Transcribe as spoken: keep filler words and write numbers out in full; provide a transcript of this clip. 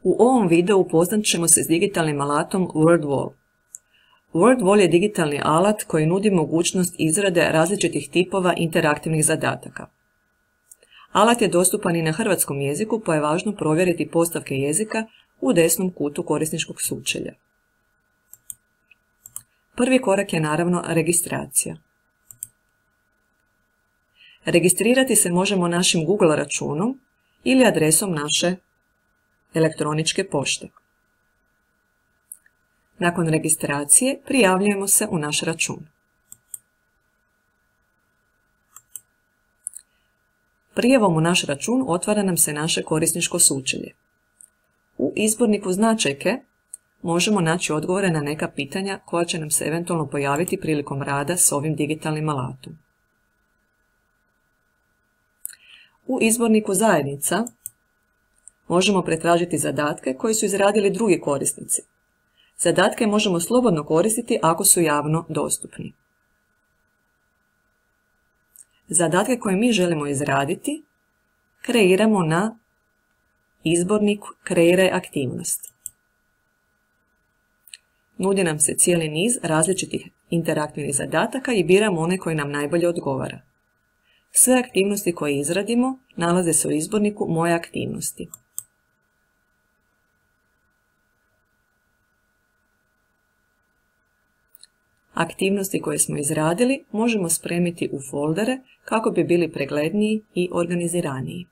U ovom videu upoznat ćemo se s digitalnim alatom WordWall. WordWall je digitalni alat koji nudi mogućnost izrade različitih tipova interaktivnih zadataka. Alat je dostupan i na hrvatskom jeziku, pa je važno provjeriti postavke jezika u desnom kutu korisničkog sučelja. Prvi korak je naravno registracija. Registrirati se možemo našim Google računom ili adresom naše elektroničke pošte. Nakon registracije prijavljujemo se u naš račun. Prijavom u naš račun otvara nam se naše korisničko sučelje. U izborniku značajke možemo naći odgovore na neka pitanja koja će nam se eventualno pojaviti prilikom rada s ovim digitalnim alatom. U izborniku zajednica možemo pretražiti zadatke koje su izradili drugi korisnici. Zadatke možemo slobodno koristiti ako su javno dostupni. Zadatke koje mi želimo izraditi kreiramo na izborniku Kreiraj aktivnost. Nudi nam se cijeli niz različitih interaktivnih zadataka i biramo one koji nam najbolje odgovara. Sve aktivnosti koje izradimo nalaze se u izborniku Moje aktivnosti. Aktivnosti koje smo izradili možemo spremiti u foldere kako bi bili pregledniji i organiziraniji.